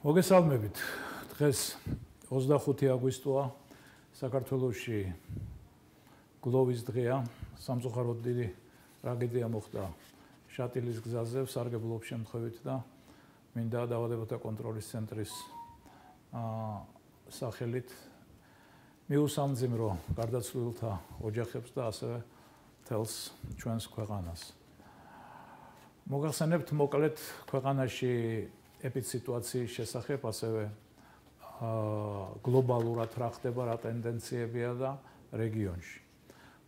მოგესალმებით. დღეს 25 აგვისტოა, საქართველოში გლოვის დღეა. სამწუხაროდ დიდი ტრაგედია მოხდა შატილის გზაზე, სარგებლობის შემთხვევით და მინდა დაავადებათა კონტროლის ცენტრის სახელით მიუსამძიმრო გარდაცვლილთა ოჯახებს და ასევე მთელს ჩვენს ქვეყანას. მოგახსენებთ მოკლედ ქვეყანაში ეპიდსიტუაციის შესახებ, ასევე გლობალურად რა ხდება, რა ტენდენციებია და რეგიონში.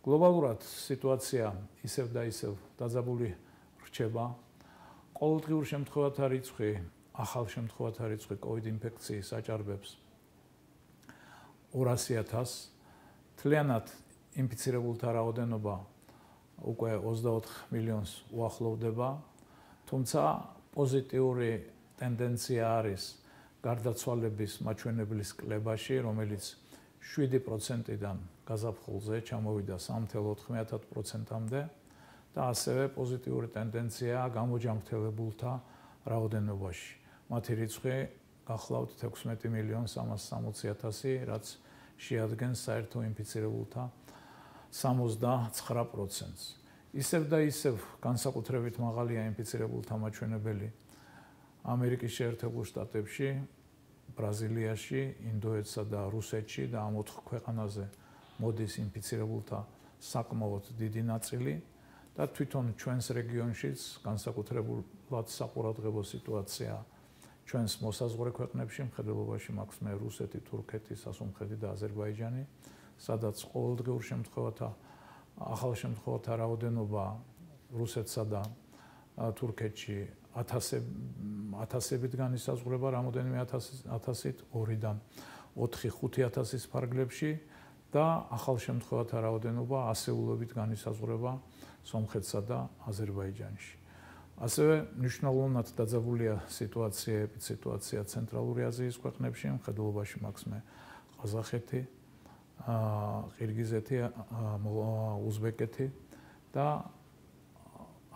გლობალურად სიტუაცია ისევ და ისევ დაძაბული რჩება. ყოველდღიურ შემთხვევათა რიცხვი, ახალ შემთხვევათა რიცხვი COVID ინფექციის აჭარბებს 200,000. მთლიანად ინფიცირებულთა რაოდენობა უკვე 24 მილიონს უახლოვდება, თუმცა პოზიტიური ტენდენცია არის გარდაცვალების მაჩვენებლის კლებაში, რომელიც 7%-დან გაზაფხულზე ჩამოვიდა 3.9%-მდე და ასევე პოზიტიური ტენდენციაა გამოჯანმრთელებულთა რაოდენობაში. მათი რიცხვი გახლავთ 16.360.000, რაც შეადგენს საერთო ინფიცირებულთა 69%-ს. ისევ და ისევ განსაკუთრებით მაღალია ინფიცირებულთა მაჩვენებელი ამერიკის შეერთებულ შტატებში, ბრაზილიაში, ინდოეთსა და რუსეთში და ამ 4 ქვეყანაზე მოდის ინფიცირებულთა საკმაოდ დიდი ნაწილი და თვითონ ჩვენს რეგიონშიც განსაკუთრებულად საყურადღებო სიტუაცია ჩვენს მოსაზღვრე ქვეყნებში, მხედველობაში მაქვს მე რუსეთი, თურქეთი, სასუნთქეთი და აზერბაიჯანი, სადაც ყოველდღიურ შემთხვევათა ახალ შემთხვევათა რაოდენობა რუსეთსა და თურქეთში ათასებით განისაზღვრება, რამოდენიმე ათასით 2-დან 4-5,000-ის ფარგლებში და ახალ შემთხვევათა რაოდენობა ასეულობით განისაზღვრება სომხეთსა და აზერბაიჯანში. ასევე მნიშვნელოვნად დაძაბულია სიტუაცია ცენტრალური აზიის ქვეყნებში, მხედველობაში მაქვს მე ყაზახეთი, ყირგიზეთი, უზბეკეთი და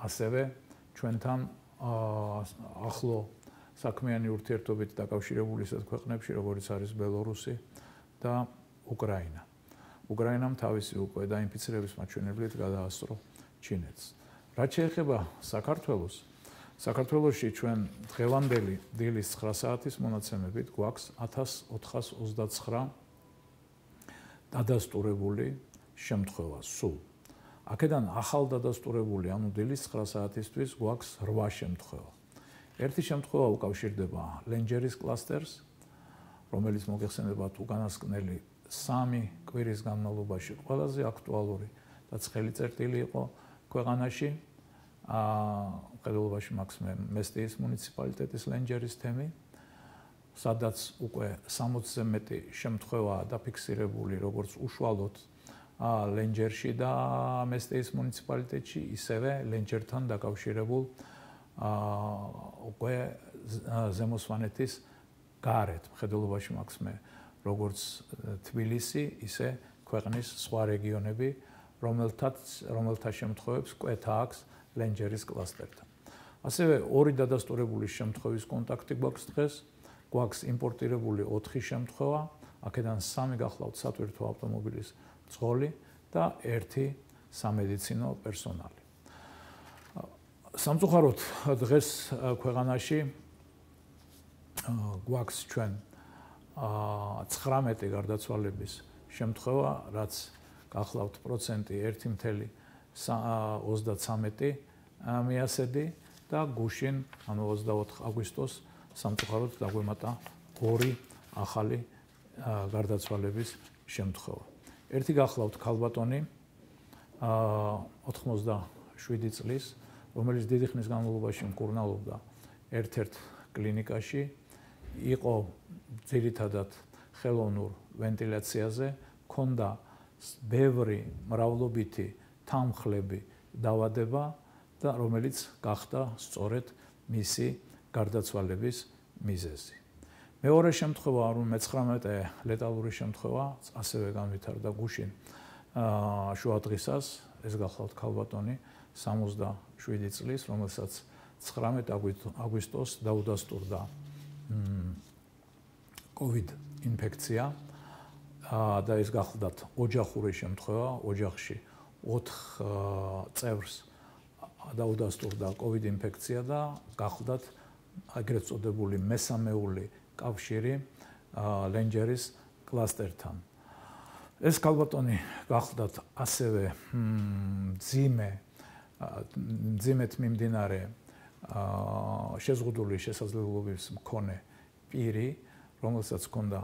ასევე ჩვენთან ახლო საქმიანი ურთიერთობით დაკავშირებული ისეთ ქვეყნებში, როგორც არის ბელორუსი და უკრაინა. უკრაინამ თავისი უკვე დაინფიცირების მაჩვენებლით გადაასწრო ჩინეთს. რაც შეეხება საქართველოს, საქართველოში ჩვენ დღევანდელი დილის 9 საათის მონაცემებით გვაქვს 1429 დადასტურებული შემთხვევა სულ. აქედან ახალ დადასტურებული, ანუ დილის 9 საათისთვის გვაქვს 8 შემთხვევა. ერთი შემთხვევა უკავშირდება ლენჯერის კლასტერს, რომელიც მოგეხსენებათ უკანასკნელი 3 კვირის განმავლობაში ყველაზე აქტუალური და ცხელი წერტილი იყო ქვეყანაში. მხედველობაში მაქვს მე მესტიის მუნიციპალიტეტის ლენჯერის თემი, სადაც უკვე 60-ზე მეტი შემთხვევაა დაფიქსირებული, როგორც უშუალოდ ლენჯერში და მესტიის მუნიციპალიტეტში, ისევე ლენჯერთან დაკავშირებულ უკვე ზემო სვანეთის გარეთ. მხედველობაში მაქვს მე როგორც თბილისი, ისე ქვეყნის სხვა რეგიონები, რომელთა შემთხვევებს კვეთა აქვს ლენჯერის კლასტერთან. ასევე 2 დადასტურებული შემთხვევის კონტაქტი გვაქვს დღეს, გვაქვს იმპორტირებული 4 შემთხვევა, აქედან 3 გახლავთ სატვირთო ავტომობილის მძღოლი და 1 სამედიცინო პერსონალი. სამწუხაროდ დღეს ქვეყანაში გვაქვს ჩვენ 19 გარდაცვალების შემთხვევა, რაც გახლავთ პროცენტი 1.33 მიასედი და გუშინ, ანუ 24 აგვისტოს სამწუხაროდ დაგვემატა 2 ახალი გარდაცვალების შემთხვევა. ერთი გახლავთ ქალბატონი 87 წლის, რომელიც დიდი ხნის განმავლობაში მკურნალობდა ერთ-ერთ კლინიკაში, იყო ძირითადად ხელოვნურ ვენტილაციაზე, ჰქონდა ბევრი მრავლობითი თანმხლები დაავადება და რომელიც გახდა სწორედ მისი გარდაცვალების მიზეზი. მეორე შემთხვევა, რომ 19 ლეტალური შემთხვევა, ასევე განვითარდა გუშინ შუა დღისას, ეს გახლავთ ქალბატონი 67 წლის, რომელსაც 19 აგვისტოს დაუდასტურდა COVID ინფექცია და ეს გახლდათ ოჯახური შემთხვევა, ოჯახში 4 წევრს დაუდასტურდა COVID ინფექცია და გახლდათ აგრეთ წოდებული მესამეული კავშირი ლენჯერის კლასტერთან. ეს ქალბატონი გახლდათ ასევე მძიმედ მიმდინარე შეზღუდული შესაძლებლობების მქონე პირი, რომელსაც ჰქონდა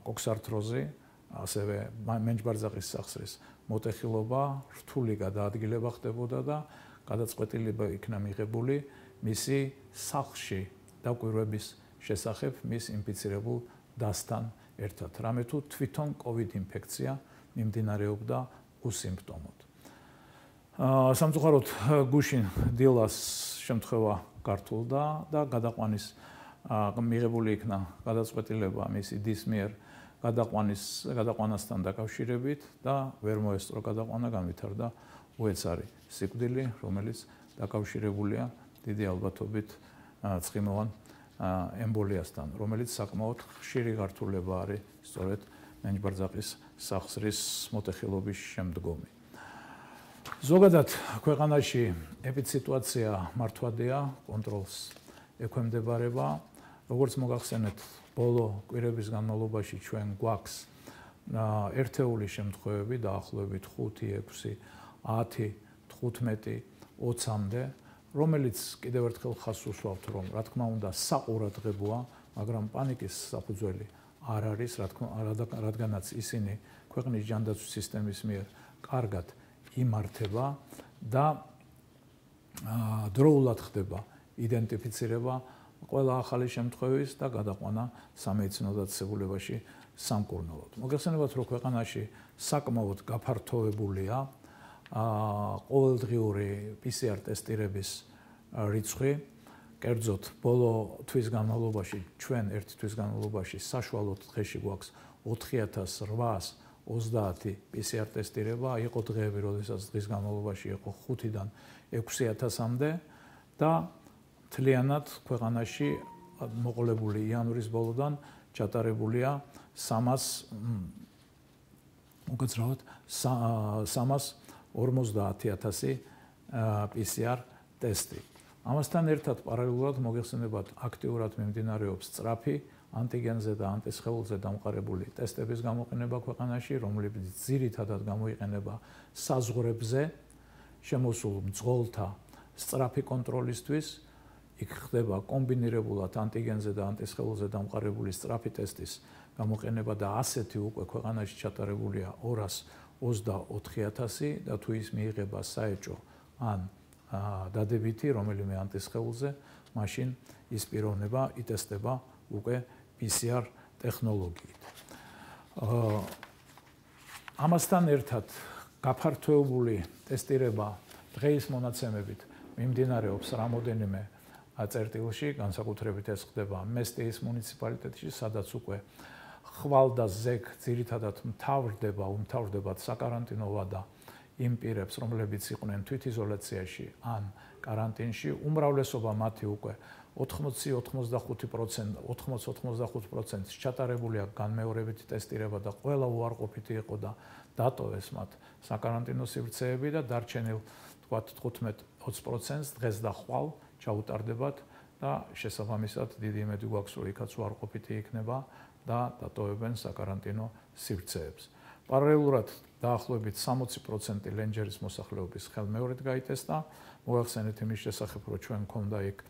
კოქსართროზი, ასევე მენჯბარძაღის სახსრის მოტეხილობა, რთული გადაადგილება ხდებოდა და გადაწყვეტილება იქნა მიღებული მისი სახლში დაკვირვების შესახებ მის ინფიცირებულ დასთან ერთად. რამე თუ თვითონ COVID ინფექცია მიმდინარეობდა უსიმპტომოდ. სამწუხაროდ გუშინ დილას შემთხვევა გართულდა და გადაყვანის მიღებული იქნა გადაწყვეტილება მისი დის მიერ გადაყვანასთან დაკავშირებით და ვერ მოესწრო გადაყვანა, განვითარდა უეცარი სიკვდილი, რომელიც დაკავშირებულია დიდი ალბათობით ცხიმოვან ემბოლიასთან, რომელიც საკმაოდ ხშირი გართულება არის სწორედ მენჯბარძაღის სახსრის მოტეხილობის შემდგომი. ზოგადად ქვეყანაში ეპიდსიტუაცია მართვადია, კონტროლს ექვემდებარება. როგორც მოგახსენეთ, ბოლო კვირების განმავლობაში ჩვენ გვაქვს ერთეული შემთხვევები დაახლოებით 5, 6, 10, 15, 20-მდე, რომელიც კიდევ ერთხელ ხაზს უსვამთ, რომ რა თქმა უნდა საყურადღებოა, მაგრამ პანიკის საფუძველი არ არის, რადგანაც ისინი ქვეყნის ჯანდაცვის სისტემის მიერ კარგად იმართება და დროულად ხდება იდენტიფიცირება ყველა ახალი შემთხვევის და გადაყვანა სამედიცინო დაწესებულებაში სამკურნალოდ. მოგეხსენებათ, რომ ქვეყანაში საკმაოდ გაფართოებულია ყოველდღიური PCR ტესტირების რიცხვი. კერძოდ, ბოლო თვის განმავლობაში, ჩვენ ერთი თვის განმავლობაში საშუალოდ დღეში გვაქვს 4830 PCR ტესტირება, იყო დღეები, როდესაც დღის განმავლობაში იყო 5-დან 6000-მდე და მთლიანად ქვეყანაში მოყოლებული იანვრის ბოლოდან ჩატარებულია 350,000 PCR ტესტი. ამასთან ერთად პარალელურად მოგეხსენებათ, აქტიურად მიმდინარეობს სწრაფი ანტიგენზე და ანტისხეულზე დამყარებული ტესტების გამოყენება ქვეყანაში, რომლებიც ძირითადად გამოიყენება საზღვრებზე შემოსულ მძღოლთა სწრაფი კონტროლისთვის. იქ ხდება კომბინირებულად ანტიგენზე და ანტისხეულზე დამყარებული სწრაფი ტესტის გამოყენება და ასეთი უკვე ქვეყანაში ჩატარებულია 224,000 და თუ ის მიიღება საეჭო ან დადებითი რომელიმე ანტისხეულზე, მაშინ ის პიროვნება იტესტება უკვე PCR ტექნოლოგიით. ამასთან ერთად გაფართოებული ტესტირება დღეის მონაცემებით მიმდინარეობს რამოდენიმე წერტილში, განსაკუთრებით ეს ხდება მესტიის მუნიციპალიტეტში, სადაც უკვე ხვალ და ზეგ ძირითადად უმთავრდებათ საკარანტინო ვადა იმ პირებს, რომლებიც იყვნენ თვითიზოლაციაში ან კარანტინში. უმრავლესობა მათი უკვე 80-85% ჩატარებულია განმეორებითი ტესტირება და ყველა უარყოფითი იყო და დატოვეს მათ საკარანტინო სივრცეები და დარჩენილ თქვათ 15-20%-ს დღეს და ხვალ ჩაუტარდებათ და შესაბამისად დიდი იმედი გვაქვს, რომ იქაც უარყოფითი იქნება და დატოვებენ საკარანტინო სივრცეებს. პარალელურად დაახლოებით 60% ლენჯერის მოსახლეობის ხელმეორედ გაიტესტა. მოახსენეთ იმის შესახებ, რომ ჩვენ მქონდა იქ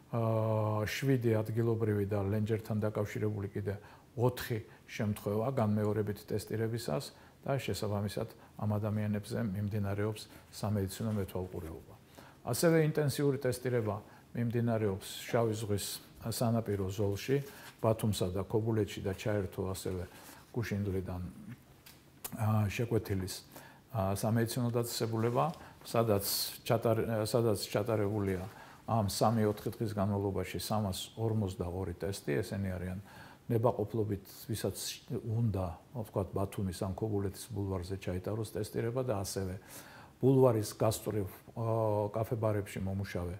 7 ადგილობრივი და ლენჯერთან დაკავშირებული კიდე 4 შემთხვევა განმეორებით ტესტირებისას და შესაბამისად ამ ადამიანებზე მიმდინარეობს სამედიცინო მეთვალყურეობა. ასევე ინტენსიური ტესტირება მიმდინარეობს შავი ზღვის სანაპირო ზოლში, ბათუმსა და ქობულეთში და ჩაერთო ასევე გუშინდლიდან შეკვეთილის სამედიცინო დაწესებულება, სადაც ჩატარებულია ამ 3-4 დღის განმავლობაში 342 ტესტი, ესენი არიან ნებაყოფლობით, ვისაც უნდა, ვთქვათ, ბათუმის ან ქობულეთის ბულვარზე ჩაიტაროს ტესტირება და ასევე ბულვარის გასწვრივ კაფე-ბარებში მომუშავე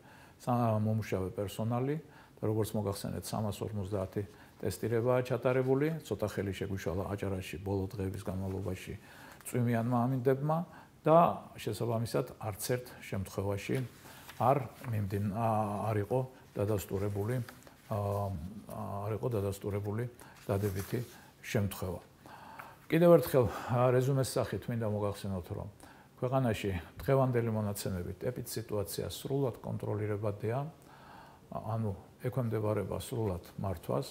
პერსონალი და როგორც მოგახსენეთ 350 ტესტირებაა ჩატარებული, ცოტა ხელი შეგვიშალა აჭარაში ბოლო დღეების განმავლობაში წვიმიანმა ამინდებმა და შესაბამისად არც ერთ შემთხვევაში არ იყო დადასტურებული დადებითი შემთხვევა. კიდევ ერთხელ რეზუმეს სახით მინდა მოგახსენოთ, რომ ქვეყანაში დღევანდელი მონაცემებით ეპიდსიტუაცია სრულად კონტროლირებადია, ანუ ექვემდებარება სრულად მართვას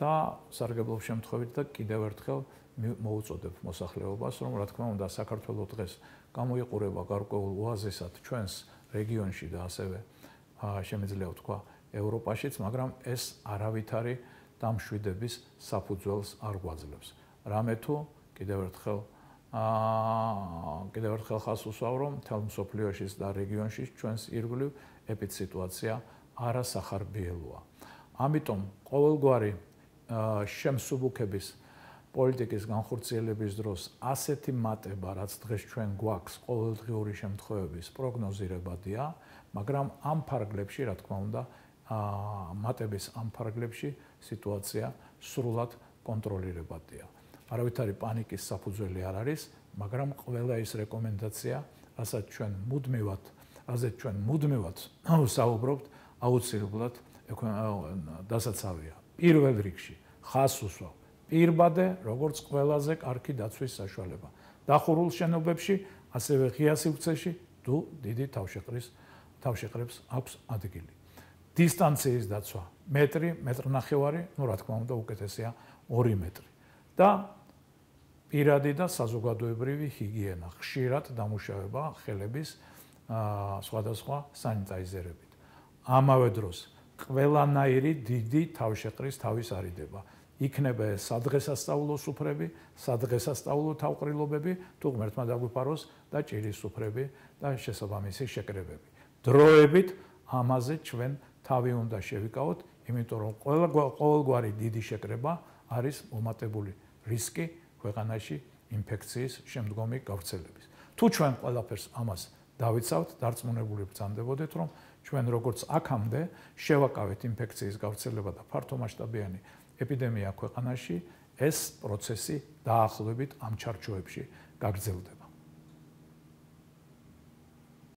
და სარგებლობის შემთხვევით და კიდევ ერთხელ მოუწოდებ მოსახლეობას, რომ რა თქმა უნდა საქართველოს დღეს გამოიყურება გარკვეულ ოაზისად ჩვენს რეგიონში და ასევე შემიძლია ვთქვა ევროპაშიც, მაგრამ ეს არავითარი დამშვიდების საფუძველს არ გვაძლევს. რამე თუ კიდევ ერთხელ ხაზს უსვავ, რომ მთელ მსოფლიოში და რეგიონში ჩვენს ირგვლივ ეპიდსიტუაცია არასახარბიელოა. ამიტომ ყოველგვარი შემსუბუქების პოლიტიკის განხორციელების დროს ასეთი მატება, რაც დღეს ჩვენ გვაქვს, ყოველდღიური შემთხვევების პროგნოზირებადია, მაგრამ ამ ფარგლებში, რა თქმა უნდა, მატების ამ ფარგლებში სიტუაცია სრულად კონტროლირებადია. არავითარი პანიკის საფუძველი არ არის, მაგრამ ყველა ის რეკომენდაცია, რასაც ჩვენ მუდმივად საუბრობთ, აუცილებლად დასაცავია. პირველ რიგში ხაზს უსვავ პირბადე, როგორც ყველაზე კარგი დაცვის საშუალება. დახურულ შენობებში, ასევე ღია სივრცეში თუ დიდი თავშეყრებს აქვს ადგილი. დისტანციის დაცვა მეტრ-ნახევარი, რა თქმა უნდა, უკეთესია 2 მეტრი. და პირადი და საზოგადოებრივი ჰიგიენა, ხშირად დამუშავება ხელების სხვადასხვა სანიტაიზერებით. ამავე დროს ყველანაირი დიდი თავშეყრის თავის არიდება. იქნება ეს სადღესასწაულო სუფრები, სადღესასწაულო თავყრილობები, თუ ღმერთმა დაგვიფაროს და ჭირის სუფრები და შესაბამისი შეკრებები. დროებით ამაზე ჩვენ თავი უნდა შევიკავოთ, იმიტომ რომ ყოველგვარი დიდი შეკრება არის მომატებული რისკი ქვეყანაში ინფექციის შემდგომი გავრცელების. თუ ჩვენ ყველაფერს ამას დავიცავთ, დარწმუნებული ვბრძანდებოდეთ, რომ ჩვენ როგორც აქამდე შევაკავეთ ინფექციის გავრცელება და ფართომასშტაბიანი ეპიდემია ქვეყანაში, ეს პროცესი დაახლოებით ამ ჩარჩოებში გაგრძელდება.